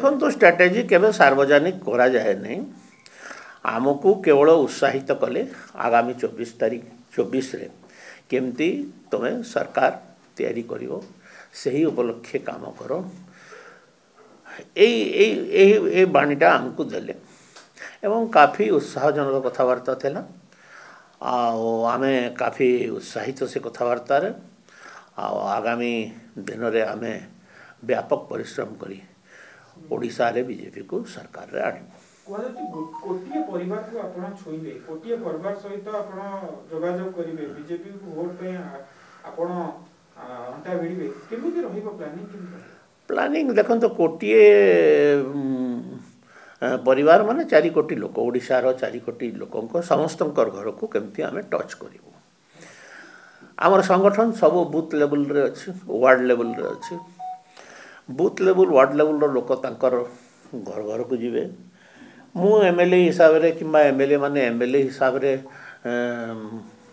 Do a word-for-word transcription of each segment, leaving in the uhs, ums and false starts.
ଦେଖନ୍ତୁ, ଷ୍ଟ୍ରାଟେଜି କେବେ ସାର୍ବଜନିକ କରାଯାଏ ନାହିଁ। ଆମକୁ କେବଳ ଉତ୍ସାହିତ କଲେ ଆଗାମୀ ଚବିଶ ତାରିଖ ଚବିଶରେ କେମିତି ତୁମେ ସରକାର ତିଆରି କରିବ, ସେହି ଉପଲକ୍ଷେ କାମ କର। ଏଇ ଏଇ ଏହି ଏଇ ବାଣୀଟା ଆମକୁ ଦେଲେ ଏବଂ କାଫି ଉତ୍ସାହଜନକ କଥାବାର୍ତ୍ତା ଥିଲା, ଆଉ ଆମେ କାଫି ଉତ୍ସାହିତ ସେ କଥାବାର୍ତ୍ତାରେ। ଆଉ ଆଗାମୀ ଦିନରେ ଆମେ ବ୍ୟାପକ ପରିଶ୍ରମ କରି ଓଡ଼ିଶାରେ ବିଜେପିକୁ ସରକାରରେ ଆଣିବୁ। କୁହାଯାଉଛି ଗୋଟିଏ ପରିବାରକୁ ଆପଣ ଛୁଇଁବେ, ଗୋଟିଏ ପରିବାର ସହିତ ଆପଣ ଯୋଗାଯୋଗ କରିବେ, ବିଜେପିକୁ ଭୋଟ ପାଇଁ ଆପଣ ଅଣ୍ଟା ଭିଡ଼ିବେ, କେମିତି ରହିବ ପ୍ଲାନିଂ? କେମିତି ପ୍ଲାନିଂ? ଦେଖନ୍ତୁ, କୋଟିଏ ପରିବାର ମାନେ ଚାରି କୋଟି ଲୋକ, ଓଡ଼ିଶାର ଚାରି କୋଟି ଲୋକଙ୍କ ସମସ୍ତଙ୍କର ଘରକୁ କେମିତି ଆମେ ଟଚ୍ କରିବୁ। ଆମର ସଂଗଠନ ସବୁ ବୁଥ୍ ଲେବୁଲରେ ଅଛି, ୱାର୍ଡ଼ ଲେବୁଲରେ ଅଛି। ବୁଥ୍ ଲେବୁଲ, ୱାର୍ଡ଼ ଲେବୁଲର ଲୋକ ତାଙ୍କର ଘର ଘରକୁ ଯିବେ। ମୁଁ ଏମ୍ ଏଲ୍ ଏ ହିସାବରେ କିମ୍ବା ଏମ୍ ଏଲ୍ ଏ ମାନେ ଏମ୍ ଏଲ୍ ଏ ହିସାବରେ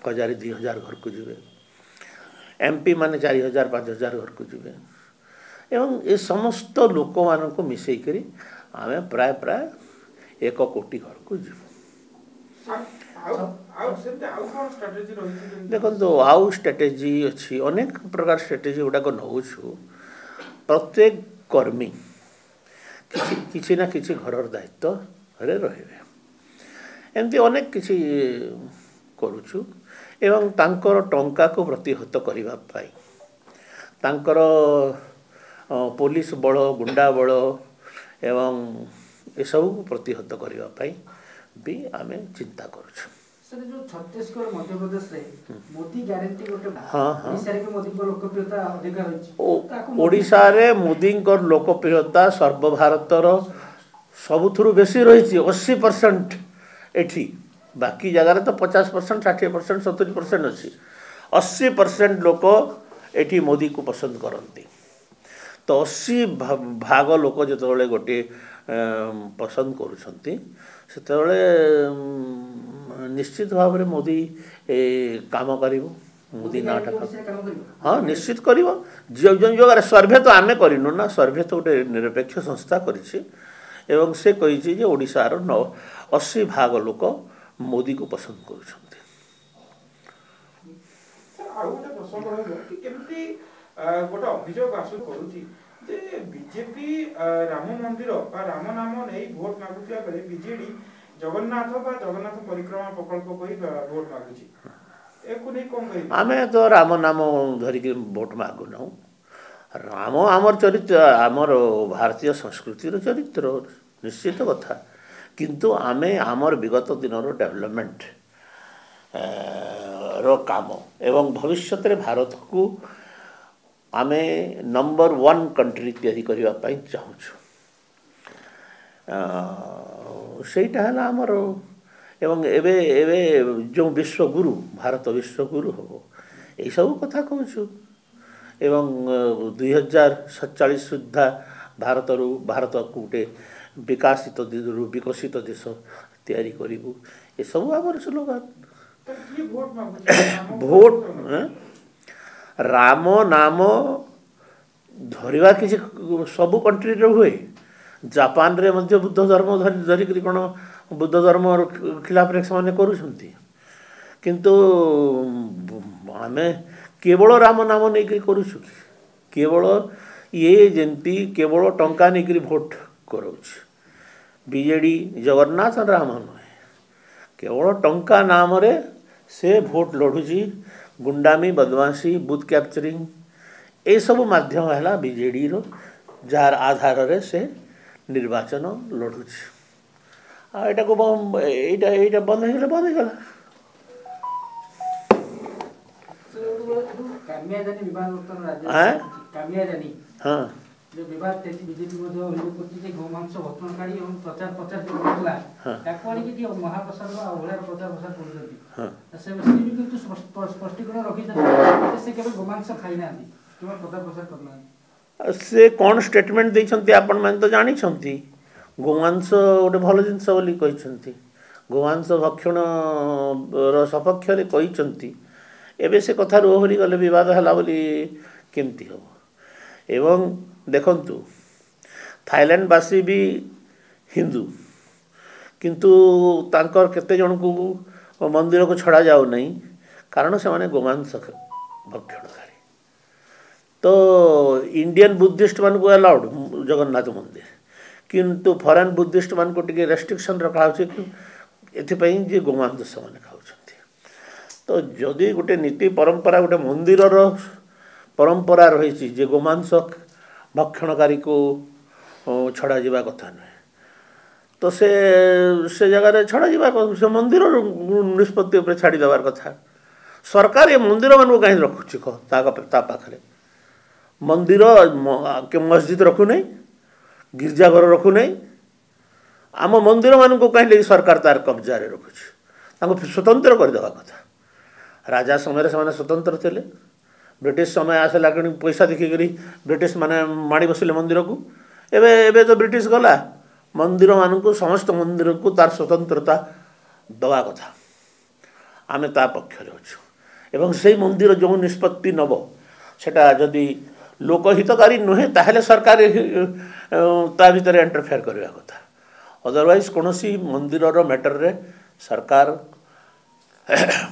ହଜାରେ ଦୁଇ ହଜାର ଘରକୁ ଯିବେ, ଏମ୍ ପି ମାନେ ଚାରି ହଜାର ପାଞ୍ଚ ହଜାର ଘରକୁ ଯିବେ, ଏବଂ ଏ ସମସ୍ତ ଲୋକମାନଙ୍କୁ ମିଶେଇକରି ଆମେ ପ୍ରାୟ ପ୍ରାୟ ଏକ କୋଟି ଘରକୁ ଯିବୁ। ଦେଖନ୍ତୁ, ଆଉ ଷ୍ଟ୍ରାଟେଜି ଅଛି, ଅନେକ ପ୍ରକାର ଷ୍ଟ୍ରାଟେଜି ଗୁଡ଼ାକ ନେଉଛୁ। ପ୍ରତ୍ୟେକ କର୍ମୀ କିଛି କିଛି ନା କିଛି ଘରର ଦାୟିତ୍ୱରେ ରହିବେ, ଏମିତି ଅନେକ କିଛି କରୁଛୁ। ଏବଂ ତାଙ୍କର ଟଙ୍କାକୁ ପ୍ରତିହତ କରିବା ପାଇଁ, ତାଙ୍କର ପୋଲିସ ବଳ, ଗୁଣ୍ଡା ବଳ ଏବଂ ଏସବୁକୁ ପ୍ରତିହତ କରିବା ପାଇଁ ବି ଆମେ ଚିନ୍ତା କରୁଛୁ। ସାର୍, ଯୋଉ ଛତିଶଗଡ଼, ମଧ୍ୟପ୍ରଦେଶରେ ମୋଦି ଗ୍ୟାରେଣ୍ଟି ଗୋଟେ, ହଁ ହଁ, ଓଡ଼ିଶାରେ ବି ମୋଦିଙ୍କ ଲୋକପ୍ରିୟତା ଅଧିକା ରହିଛି। ଓଡ଼ିଶାରେ ମୋଦିଙ୍କର ଲୋକପ୍ରିୟତା ସର୍ବଭାରତର ସବୁଥିରୁ ବେଶୀ ରହିଛି, ଅଶୀ ପରସେଣ୍ଟ ଏଠି। ବାକି ଜାଗାରେ ତ ପଚାଶ ପରସେଣ୍ଟ, ଷାଠିଏ ପରସେଣ୍ଟ, ସତୁରି ପରସେଣ୍ଟ ଅଛି। ଅଶୀ ପରସେଣ୍ଟ ଲୋକ ଏଠି ମୋଦିକୁ ପସନ୍ଦ କରନ୍ତି। ତ ଅଶୀ ଭାଗ ଲୋକ ଯେତେବେଳେ ଗୋଟିଏ ପସନ୍ଦ କରୁଛନ୍ତି, ସେତେବେଳେ ନିଶ୍ଚିତ ଭାବରେ ମୋଦି କାମ କରିବ, ମୋଦି ନାଁଟା। ହଁ, ନିଶ୍ଚିତ କରିବ। ଯେଉଁ ଯେଉଁ ଜାଗାରେ ସର୍ଭେ ତ ଆମେ କରିନୁ ନା, ସର୍ଭେ ତ ଗୋଟେ ନିରପେକ୍ଷ ସଂସ୍ଥା କରିଛି, ଏବଂ ସେ କହିଛି ଯେ ଓଡ଼ିଶାର ଅଶୀ ଭାଗ ଲୋକ ମୋଦିକୁ ପସନ୍ଦ କରୁଛନ୍ତି। ଆଉ ଗୋଟେ ପ୍ରସଙ୍ଗ ରହିବ କି କେମିତି ଗୋଟେ ଅଭିଯୋଗ ଆସୁ କରୁଛି ଯେ ବିଜେପି ରାମ ମନ୍ଦିର ବା ରାମ ନାମ ନେଇ ଭୋଟ ମାଗୁଥିବା ବେଳେ ବିଜେଡି ଜଗନ୍ନାଥ ବା ଜଗନ୍ନାଥ ପରିକ୍ରମା ପ୍ରକଳ୍ପ କହି ଭୋଟ ମାଗୁଛି, ଏହାକୁ ନେଇ କଣ କହିବେ? ଆମେ ତ ରାମ ନାମ ଧରିକି ଭୋଟ ମାଗୁନାହୁଁ। ରାମ ଆମର ଚରିତ୍ର, ଆମର ଭାରତୀୟ ସଂସ୍କୃତିର ଚରିତ୍ର, ନିଶ୍ଚିତ କଥା। କିନ୍ତୁ ଆମେ ଆମର ବିଗତ ଦିନର ଡେଭଲପମେଣ୍ଟ ର କାମ ଏବଂ ଭବିଷ୍ୟତରେ ଭାରତକୁ ଆମେ ନମ୍ବର ୱାନ୍ କଣ୍ଟ୍ରି ତିଆରି କରିବା ପାଇଁ ଚାହୁଁଛୁ, ସେଇଟା ହେଲା ଆମର। ଏବଂ ଏବେ ଏବେ ଯେଉଁ ବିଶ୍ୱଗୁରୁ, ଭାରତ ବିଶ୍ୱଗୁରୁ ହେବ, ଏଇସବୁ କଥା କହୁଛୁ। ଏବଂ ଦୁଇ ହଜାର ସତଚାଳିଶ ସୁଦ୍ଧା ଭାରତରୁ ଭାରତକୁ ଗୋଟେ ବିକାଶିତ ବିକଶିତ ଦେଶ ତିଆରି କରିବୁ, ଏସବୁ ଆମର ସ୍ଲୋଗାନ। ଭୋଟ ରାମ ନାମ ଧରିବା କିଛି ସବୁ କଣ୍ଟ୍ରିରେ ହୁଏ। ଜାପାନରେ ମଧ୍ୟ ବୁଦ୍ଧ ଧର୍ମ ଧରି ଧରିକିରି କ'ଣ ବୁଦ୍ଧ ଧର୍ମର ଖିଲାପରେ ସେମାନେ କରୁଛନ୍ତି? କିନ୍ତୁ ଆମେ କେବଳ ରାମ ନାମ ନେଇକରି କରୁଛୁ କି? କେବଳ ଇଏ ଯେମିତି କେବଳ ଟଙ୍କା ନେଇକରି ଭୋଟ କରାଉଛି ବିଜେଡ଼ି, ଜଗନ୍ନାଥ ରାମ ନୁହେଁ, କେବଳ ଟଙ୍କା ନାମରେ ସେ ଭୋଟ ଲଢ଼ୁଛି। ଗୁଣ୍ଡାମି, ବଦମାସି, ବୁଥ୍ କ୍ୟାପଚରିଂ, ଏସବୁ ମାଧ୍ୟମ ହେଲା ବିଜେଡ଼ିର, ଯାହାର ଆଧାରରେ ସେ ନିର୍ବାଚନ ଲଢ଼ୁଛି। ଆଉ ଏଇଟାକୁ ଏଇଟା ଏଇଟା ବନ୍ଦ ହେଇଗଲେ ବନ୍ଦ ହେଇଗଲା। ହଁ, ଯୋଉ ବିବାଦ ଚାଲିଛି, ବିଜେପି ମଧ୍ୟ ଅଭିଯୋଗ କରୁଛି ଯେ ଗୋମାଂସ ଭକ୍ଷଣକାରୀ ଏବଂ ପ୍ରଚାର ପ୍ରଚାର ଯୋଉ କରୁଥିଲା ତାକୁ ଆଣିକି ଟିକେ ମହାପ୍ରସାଦ ବା ଅବହେଳାର ପ୍ରଚାର ପ୍ରସାର କରୁଛନ୍ତି। ସେ ବି କିନ୍ତୁ ସ୍ପଷ୍ଟୀକରଣ ରଖିଛନ୍ତି ଯେ ସେ କେବେ ଗୋମାଂସ ଖାଇନାହାନ୍ତି କିମ୍ବା ପ୍ରଚାର ପ୍ରସାର କରିନାହାନ୍ତି। ସେ କ'ଣ ଷ୍ଟେଟମେଣ୍ଟ ଦେଇଛନ୍ତି ଆପଣମାନେ ତ ଜାଣିଛନ୍ତି। ଗୋମାଂସ ଗୋଟେ ଭଲ ଜିନିଷ ବୋଲି କହିଛନ୍ତି, ଗୋମାଂସ ଭକ୍ଷଣର ସପକ୍ଷରେ କହିଛନ୍ତି। ଏବେ ସେ କଥାରୁ ଓହରି ଗଲେ ବିବାଦ ହେଲା ବୋଲି କେମିତି ହେବ? ଏବଂ ଦେଖନ୍ତୁ, ଥାଇଲାଣ୍ଡବାସୀ ବି ହିନ୍ଦୁ, କିନ୍ତୁ ତାଙ୍କର କେତେ ଜଣଙ୍କୁ ମନ୍ଦିରକୁ ଛଡ଼ା ଯାଉନାହିଁ, କାରଣ ସେମାନେ ଗୋମାଂସ ଭକ୍ଷଣକାରୀ। ତ ଇଣ୍ଡିଆନ୍ ବୁଦ୍ଧିଷ୍ଟମାନଙ୍କୁ ଆଲାଉଡ଼ ଜଗନ୍ନାଥ ମନ୍ଦିର, କିନ୍ତୁ ଫରେନ୍ ବୁଦ୍ଧିଷ୍ଟମାନଙ୍କୁ ଟିକେ ରେଷ୍ଟ୍ରିକ୍ସନ୍ ରଖାହେଉଛି ଏଥିପାଇଁ ଯେ ଗୋମାଂସ ସେମାନେ ଖାଉଛନ୍ତି। ତ ଯଦି ଗୋଟେ ନୀତି ପରମ୍ପରା, ଗୋଟେ ମନ୍ଦିରର ପରମ୍ପରା ରହିଛି ଯେ ଗୋମାଂସ ଭକ୍ଷଣକାରୀକୁ ଛଡ଼ାଯିବା କଥା ନୁହେଁ, ତ ସେ ସେ ଜାଗାରେ ଛଡ଼ାଯିବା, ସେ ମନ୍ଦିରର ନିଷ୍ପତ୍ତି ଉପରେ ଛାଡ଼ିଦେବାର କଥା। ସରକାର ଏ ମନ୍ଦିରମାନଙ୍କୁ କାହିଁ ରଖୁଛି କହ? ତା ତା ପାଖରେ ମନ୍ଦିର, ମସଜିଦ ରଖୁନାହିଁ, ଗିର୍ଜାଘର ରଖୁନାହିଁ, ଆମ ମନ୍ଦିରମାନଙ୍କୁ କାହିଁକି ସରକାର ତାର କବ୍ଜାରେ ରଖୁଛି? ତାଙ୍କୁ ସ୍ୱତନ୍ତ୍ର କରିଦେବା କଥା। ରାଜା ସମୟରେ ସେମାନେ ସ୍ୱତନ୍ତ୍ର ଥିଲେ। ବ୍ରିଟିଶ ସମୟ ଆସିଲା କିଣି ପଇସା ଦେଖିକରି ବ୍ରିଟିଶ ମାନେ ମାଡ଼ି ବସିଲେ ମନ୍ଦିରକୁ। ଏବେ ଏବେ ତ ବ୍ରିଟିଶ ଗଲା, ମନ୍ଦିରମାନଙ୍କୁ, ସମସ୍ତ ମନ୍ଦିରକୁ ତାର ସ୍ୱତନ୍ତ୍ରତା ଦେବା କଥା। ଆମେ ତା ପକ୍ଷରେ ଅଛୁ, ଏବଂ ସେଇ ମନ୍ଦିର ଯେଉଁ ନିଷ୍ପତ୍ତି ନେବ ସେଟା ଯଦି ଲୋକହିତକାରୀ ନୁହେଁ, ତାହେଲେ ସରକାର ତା ଭିତରେ ଇଣ୍ଟରଫେୟାର କରିବା କଥା। ଅଦରୱାଇଜ୍ କୌଣସି ମନ୍ଦିରର ମ୍ୟାଟରରେ ସରକାର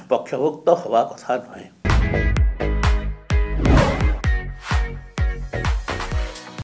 ପକ୍ଷଭୁକ୍ତ ହେବା କଥା ନୁହେଁ।